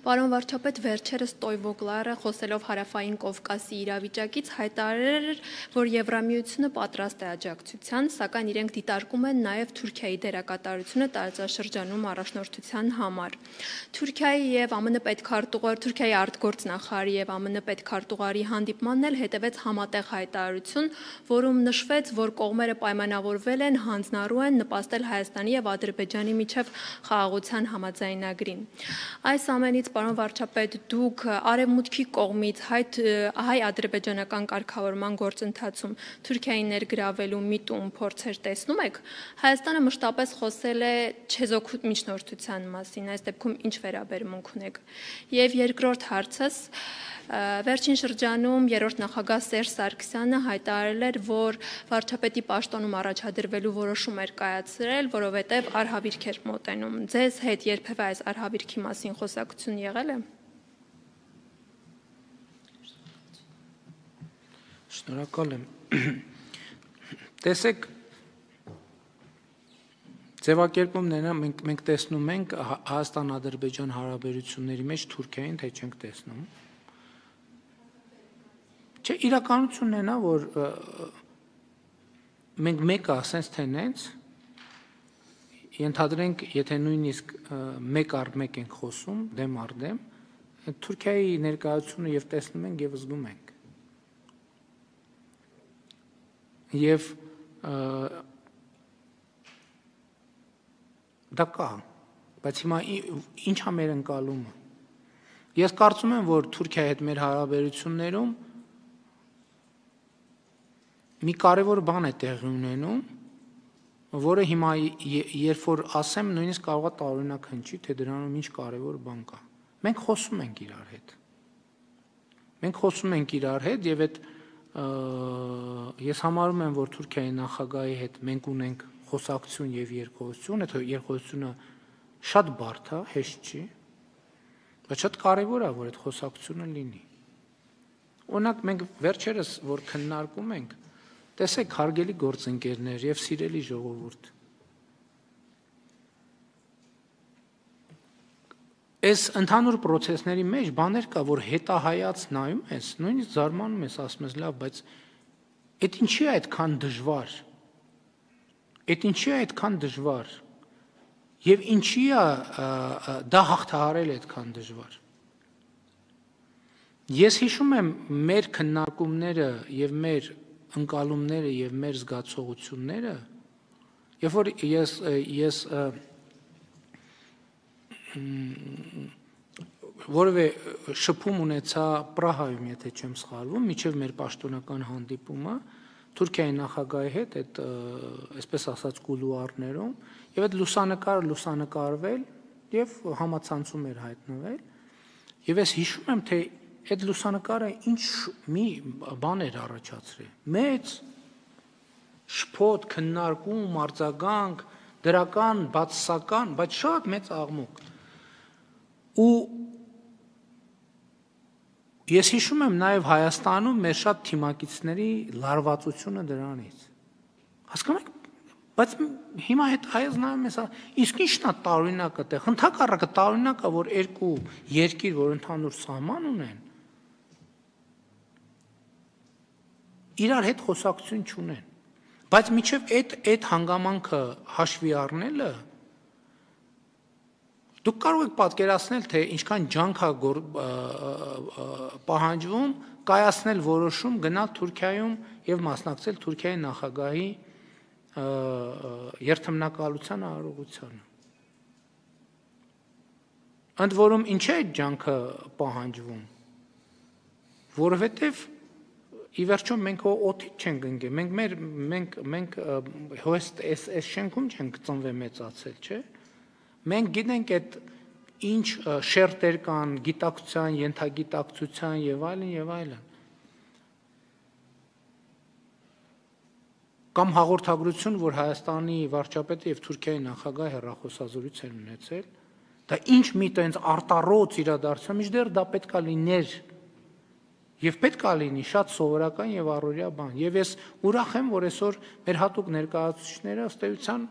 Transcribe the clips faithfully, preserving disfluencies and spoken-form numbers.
Պարոն վարչապետ, վերջերս Տոյվոգլարը խոսելով Հարավային Կովկասի իրավիճակից հայտարարել էր, որ Եվրամիությունը պատրաստ է աջակցության, սակայն իրենք դիտարկում են նաև Թուրքիայի դերակատարությունը տարածաշրջանում առաջնորդության համար։ Թուրքիայի եւ ԱՄՆ պետքարտուղար, Թուրքիայի արտգործնախարարի եւ ԱՄՆ պետքարտուղարի հանդիպմանն էլ հետևեց համատեղ հայտարարություն, որում նշվեց, որ կողմերը պայմանավորվել են հանձնառու են նպաստել Հայաստանի եւ Ադրբեջանի միջև խաղաղության համաձայնագրին։ Այս ամենից, պարոն վարչապետ, դուք արևմուտքի կողմից հայ-ադրբեջանական կարգավորման գործընթացում Թուրքիայի ներգրավելու միտում փորձեր տեսնում եք։ Հայաստանը մշտապես խոսել է չեզոք միջնորդության մասին, այս դեպքում ինչ վերաբերմունք ունեք։ Եվ երկրորդ հարցս, վերջին շրջանում երրորդ նախագահ Սերժ Սարգսյանը հայտարարել էր, որ վարչապետի պաշտոնում առաջադրվելու որոշում էր կայացրել, որովհետև արհավիրք էր մոտենում։ Ձեզ հետ երբևէ այս արհավիրքի մասին խոսակցություն եղել է։ Շնորհակալ եմ։ Տեսեք, ձևակերպումները մենք մենք տեսնում ենք Հայաստան-Ադրբեջան հարաբերությունների մեջ Թուրքիային, թե չենք տեսնում։ Չէ, իրականությունն է նա, որ մենք մեկը ասենք թե նենց, ենթադրենք, եթե նույնիսկ մեկ առ մեկ ենք խոսում, դեմ առ դեմ, Թուրքիայի ներկայությունը եւ տեսնում ենք եւ զգում ենք։ Եվ դա կա, բայց հիմա ինչ է մեր ընկալումը։ Ես կարծում եմ, որ Թուրքիայի հետ մեր հարաբերություններում մի կարևոր բան է տեղի ունենում, որը հիմա երբ որ ասեմ, նույնիսկ կարող է տարօրինակ հնչի, թե դրանում ինչ կարևոր բան կա։ Մենք խոսում ենք իրար հետ։ Մենք խոսում ենք իրար հետ եւ այդ ես համարում եմ, որ Թուրքիայի նախագահի հետ մենք ունենք խոսակցություն եւ երկխոսություն, այդ երկխոսությունը շատ բարդ է, հեշտ չի, բայց շատ կարևոր է, որ այդ խոսակցությունը լինի։ Օրինակ մենք վերջերս որ քննարկում ենք, տեսեք հարգելի գործընկերներ եւ սիրելի ժողովուրդ, այս ընդհանուր process-ների մեջ բաներ կա, որ հետահայաց նայում ես, նույնիսկ զարմանում ես, ասում ես լավ, բայց այդ ինչի է այդքան դժվար։ Այդ ինչի է այդքան դժվար։ Եվ ինչի է դա հաղթահարել այդքան դժվար։ Ես հիշում եմ մեր քննարկումները եւ մեր ընկալումները եւ մեր զգացողությունները, երբ որ ես ես որևէ շփում ունեցա Պրահայում, եթե չեմ սխալվում, միջև մեր պաշտոնական հանդիպումը Թուրքիայի նախագահի հետ, այդ այսպես ասած կուլուարներում, եւ այդ լուսանկարը լուսանկարվել եւ համացանցում էր հայտնվել, եւ ես հիշում եմ, թե այդ լուսանկարը ինչ մի բան էր առաջացրել։ Մեծ շփոթ, քննարկում, արձագանք, դրական, բացասական, բայց շատ մեծ աղմուկ։ Ու ես հիշում եմ նաև Հայաստանում մեր շատ թիմակիցների լարվածությունը դրանից։ Հասկանում եք, բայց հիմա հետ հայաց նայում ես, իսկ ի՞նչն է տարօրինակը տեղ։ Ընդհակառակը տարօրինակը, որ երկու երկիր, որ ընդհանուր սահման ունեն, իրար հետ խոսակցություն չունեն։ Բայց միջև այդ այդ հանգամանքը հաշվի առնելը դուք կարող եք պատկերացնել, թե ինչքան ջանք է պահանջվում կայացնել որոշում գնալ Թուրքիայում եւ մասնակցել Թուրքիայի նախագահի երթմնակալության արարողությանը։ Ընդ որում ինչ է այդ ջանքը պահանջվում, որովհետեւ ի վերջո մենք օդից չենք ընկել, մենք մեր մենք մենք հեստ այս այս շենքում չենք ծնվել մեծացել, չէ՞։ Մենք գիտենք այդ ինչ շերտեր կան գիտակցության, ենթագիտակցության եւ այլն եւ այլն։ Կամ հաղորդագրություն, որ Հայաստանի վարչապետը եւ Թուրքիայի նախագահը հեռախոսազրույց են ունեցել, դա ինչ մի տենց արտառոց իրադարձություն, մինչդեռ դա պետքա լիներ եւ պետքա լինի շատ սովորական եւ առօրյա բան։ Եվ ես ուրախ եմ, որ այսօր մեր հատուկ ներկայացուցիչները ըստ էության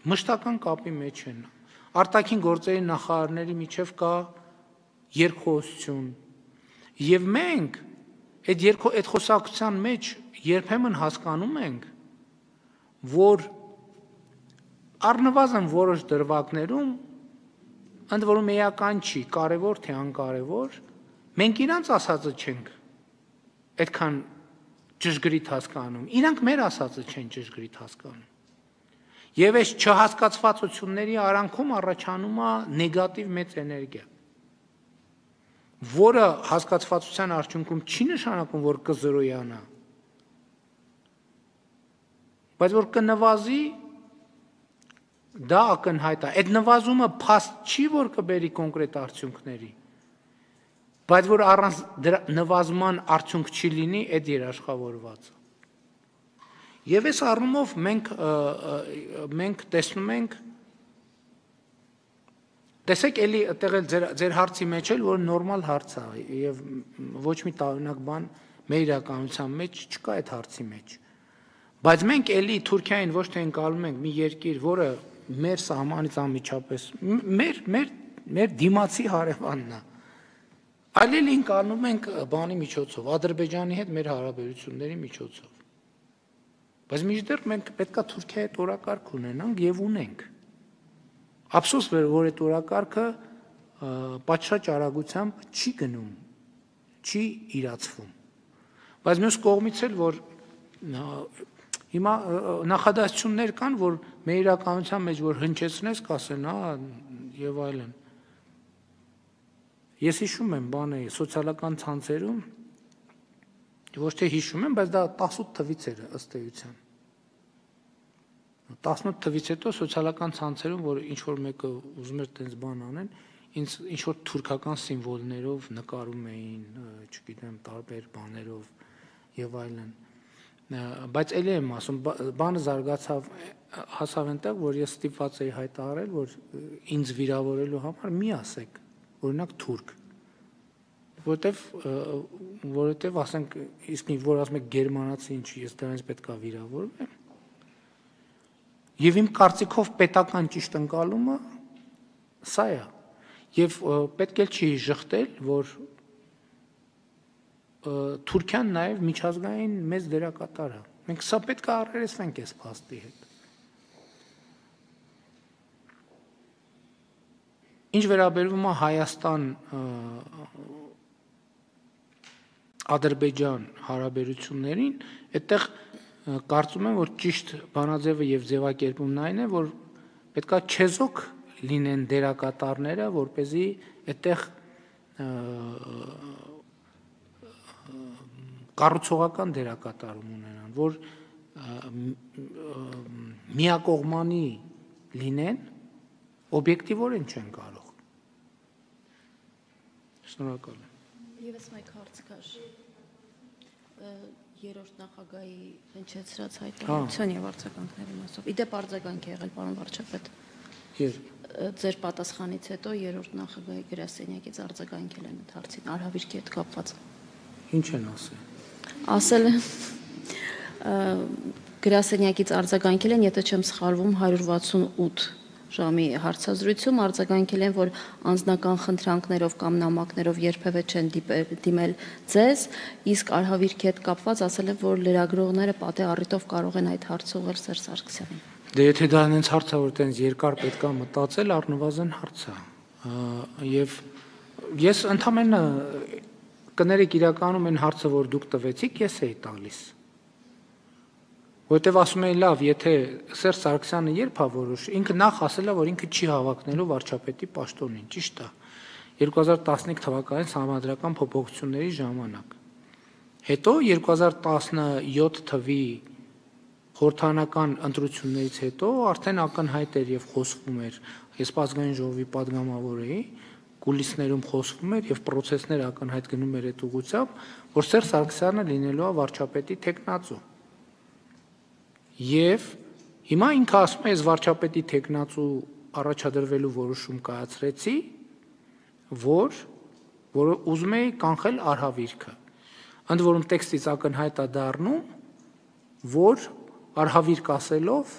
մշտական կապի մեջ են։ արտաքին գործերի նախարարների միջև կա երկխոսություն, եւ մենք այդ երկու այդ խոսակցության մեջ երբեմն հասկանում ենք, որ առնվազն որոշ դրվագներում ընդ որում էական չի, կարևոր թե անկարևոր, մենք իրանց ասածը չենք այդքան ճշգրիտ հասկանում, իրանք մեր ասածը չեն ճշգրիտ հասկանում։ Եվ այս չհասկացվածությունների արանքում առաջանում է նեգատիվ մեծ էներգիա, որը հասկացվածության արդյունքում չի նշանակում, որ կզրոյանա, բայց որ կնվազի, դա ակնհայտ է։ Այդ նվազումը փաստ չի, որ կբերի կոնկրետ արդյունքների, բայց որ առանց դրա նվազման արդյունք չի լինի, այդ երաշխավորվածը։ Եվ այս առումով մենք մենք տեսնում ենք, տեսեք էլի այդտեղ էլ ձեր ձեր հարցի մեջ էլ որ նորմալ հարց է եւ ոչ մի տարօրինակ բան մեր իրականության մեջ չկա այդ հարցի մեջ։ Բայց մենք էլի Թուրքիային ոչ թե ընկալում ենք մի երկիր, որը մեր սահմանից անմիջապես մեր մեր մեր դիմացի հարևանն է։ Այլ էլ ընկալում ենք բանի միջոցով, Ադրբեջանի հետ մեր հարաբերությունների միջոցով։ Բայց մինչդեռ մենք պետքա Թուրքիայի հետ օրակարգ ունենանք եւ ունենք։ Ափսոս որ այդ օրակարգը պատշաճ արագությամբ չի գնում, չի իրացվում։ Բայց մյուս կողմից էլ որ հիմա նախադասություններ կան, որ մեր իրականության մեջ որ հնչեցնես, կասեն, հա, եւ այլն։ Ես հիշում եմ բանը սոցիալական ցանցերում, ոչ թե հիշում եմ, բայց դա տասնութ թվից էր ըստ էության։ տասնութ թվից հետո սոցիալական ցանցերում, որ ինչ որ մեկը ուզում էր տենց բան անեն, ինձ ինչ որ թուրքական սիմվոլներով նկարում էին, չգիտեմ, տարբեր բաներով եւ այլն։ Բայց էլի եմ ասում, բանը զարգացավ, հասավ այնտեղ, որ ես ստիպված էի հայտարարել, որ ինձ վիրավորելու համար մի ասեք, օրինակ թուրք, որտեվ որովհետև ասենք իսկ որ ասում եք գերմանացի ինչի ես դրանից պետք է վիրավորվեմ։ Եվ իմ կարծիքով պետական ճիշտ ընկալումը սա է։ Եվ պետք է չի ժխտել, որ Թուրքիան նաև միջազգային մեծ դերակատար է։ Մենք սա պետք է առերեսվենք այս փաստի հետ։ Ինչ վերաբերվում է Հայաստան Ադրբեջան հարաբերություններին, այդտեղ կարծում եմ, որ ճիշտ բանաձևը եւ ձևակերպումն այն է, որ պետքա չեզոք լինեն դերակատարները, որպեսզի այդտեղ կառուցողական դերակատարում ունենան, որ միակողմանի լինեն, օբյեկտիվորեն չեն կարող։ Շնորհակալ եմ։ Եվս մեկ հարց կար երրորդ նախագահի հնչեցրած հայտարարության եւ արձագանքների մասով։ Իդեպ արձագանք է եղել, պարոն վարչապետ։ Ձեր պատասխանից հետո երրորդ նախագահի գրասենյակից արձագանքել են այդ հարցին, արհավիրքի հետ կապված։ Ինչ են ասել։ Ասել են գրասենյակից արձագանքել են, եթե չեմ սխալվում, հարյուր վաթսունութ ժամի հարցազրույցում արձագանքել են, որ անձնական խնդրանքներով կամ նամակներով երբևէ չեն դիմել ձեզ, իսկ արհավիրքի հետ կապված ասել են, որ լրագրողները պատե առիթով կարող են այդ հարցը ուղղել Սերժ Սարգսյանին։ Դե եթե դա այնց հարց է, որ տենց երկար պետք է մտածել, առնվազն հարց է։ Եվ ես ընդամենը կներեք իրականում այն հարցը, որ դուք տվեցիք, ես էի տալիս։ Որտեվ ասում էին լավ, եթե Սերժ Սարգսյանը երբ է որոշ, ինքը նախ ասել է, որ ինքը չի հավակնելու վարչապետի պաշտոնին, ճիշտ է։ երկու հազար տասնհինգ թվականին համանդրական փոփոխությունների ժամանակ։ Հետո երկու հազար տասնյոթ թվի խորհրդարանական ընտրություններից հետո արդեն ակնհայտ էր եւ խոսվում էր, ես ազգային ժողովի падգամավոր էի, կուլիսներում խոսվում էր եւ process-ները ակնհայտ գնում էր այդ ուղղությամբ, որ Սերժ Սարգսյանը լինելու է վարչապետի տեխնացու։ Եվ հիմա ինքը ասում է, ես վարչապետի տեխնացու առաջադրվելու որոշում կայացրեցի, որ որ ուզում էի կանխել արհավիրքը։ Ընդ որում տեքստից ակնհայտ է դառնում, որ արհավիրք ասելով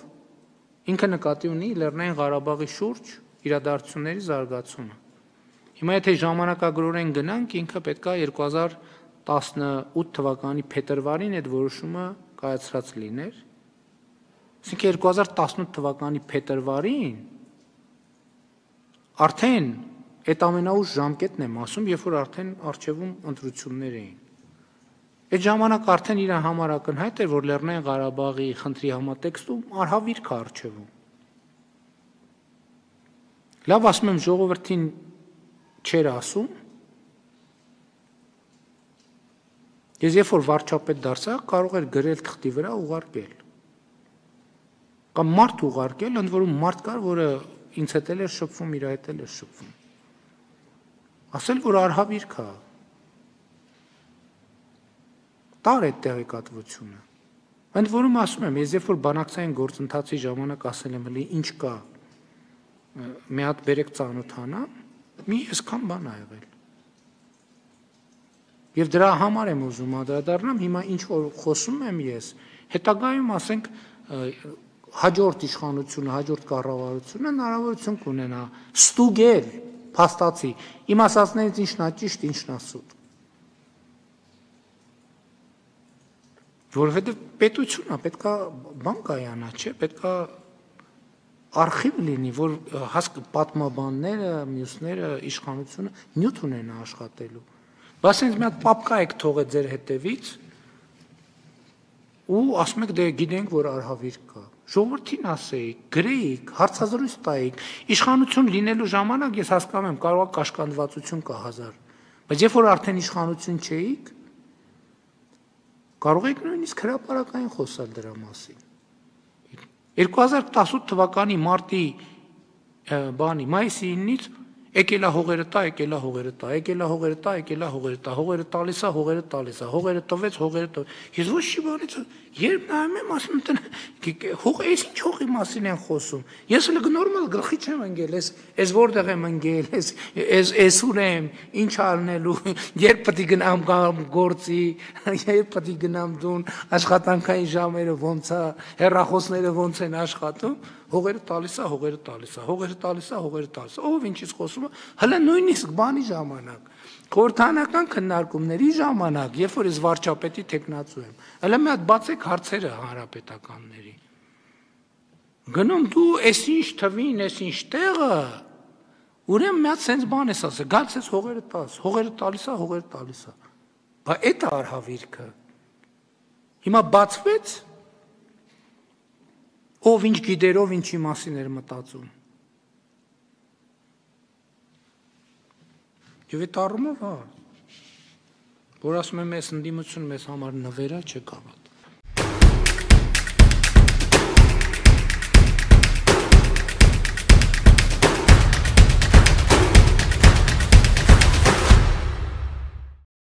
ինքը նկատի ունի Լեռնային Ղարաբաղի շուրջ իրադարձությունների զարգացումը։ Հիմա եթե ժամանակագրորեն գնանք, ինքը պետք է երկու հազար տասնութ թվականի փետրվարին այդ որոշումը կայացրած լիներ։ Այսինքն երկու հազար տասնութ թվականի փետրվարին արդեն այդ ամենաուշ ժամկետն եմ ասում, երբ որ արդեն արխիվում ընտրություններ էին։ Այդ ժամանակ արդեն իր համար ակնհայտ էր, որ Լեռնային Ղարաբաղի խնդրի համատեքստում արհավիրք է արխիվում։ Լավ, ասում եմ, ժողովրդին չէր ասում։ Ես երբ որ վարչապետ դարձա, կարող էր գրել թղթի վրա ուղարկել։ Կամ մարդ ուղարկել, ընդ որում մարդ կար, որը ինձ հետ էլ էր շփվում, իր հետ էլ էր շփվում։ Ասել, որ արհավիրք է։ Տար այդ տեղեկատվությունը։ Ընդ որում ասում եմ, ես երբ որ բանակցային գործընթացի ժամանակ ասել եմ, էլի ինչ կա, մի հատ բերեք ծանոթանամ, մի այսքան բան ա եղել։ Եվ դրա համար եմ ուզում անդրադառնամ, հիմա ինչ որ խոսում եմ ես, հետագայում ասենք հաջորդ իշխանությունը, հաջորդ կառավարությունը հնարավորություն կունենա ստուգել, փաստացի, իմ ասածներից ինչն է ճիշտ, ինչն է սուտ։ Որովհետև պետությունը պետք է բան կայանա, չէ, պետք է արխիվ լինի, որ հասկ պատմաբանները, մյուսները, իշխանությունը նյութ ունենա աշխատելու։ Բայց ինձ մի հատ պապկա եք թողել ձեր հետևից ու ասում եք դե գիտենք, որ արհավիրք կա։ Ժողովրդին ասեիք, գրեիք, հարցազրույց տայիք։ Իշխանություն լինելու ժամանակ ես հասկանում եմ, կարող է կաշկանդվածություն կա հազար, բայց երբ որ արդեն իշխանություն չէիք, կարող եք նույնիսկ հրապարակային խոսալ դրա մասին։ երկու հազար տասնութ թվականի մարտի բանի մայիսի իննից եկելա հողերը տա, եկելա հողերը տա, եկելա հողերը տա, եկելա հողերը տա, հողերը տալիս է, հողերը տալիս է, հողերը տվեց, հողերը տվեց։ Ես ոչ չի բանից, երբ նայում եմ, ասում եմ, հող, այս ինչ հողի մասին են խոսում։ Ես էլ նորմալ գլխի չեմ ընկել, ես ես որտեղ եմ ընկել, ես ես ես ուր եմ, ինչ անելու, երբ պետք է գնամ գործի, երբ պետք է գնամ դուն, աշխատանքային ժամերը ոնց է, հեռախոսները ոնց են աշխատում, հողերը տալիս է, հողերը տալիս է, հողերը տալիս է, հողերը տալիս է։ Ով ինչից խոսում է, հələ նույնիսկ բանի ժամանակ, խորհրդանական քննարկումների ժամանակ, երբ որ ես վարչապետի տեխնացու եմ, հələ մի հատ բացեք հարցերը հանրապետականների։ Գնում դու էս ինչ թվին, էս ինչ տեղը, ուրեմն մի հատ sense բան ես ասել, գալիս ես հողերը տալիս, հողերը տալիս է, հողերը տալիս է։ Բա այդ է արհավիրքը։ Հիմա բացվեց, ով ինչ գիտեր, ով ինչի մասին էր մտածում։ Եվ այդ առումով, հա, որ ասում եմ, այս ընդդիմությունը մեզ համար նվեր է, չէ՞ կավատ։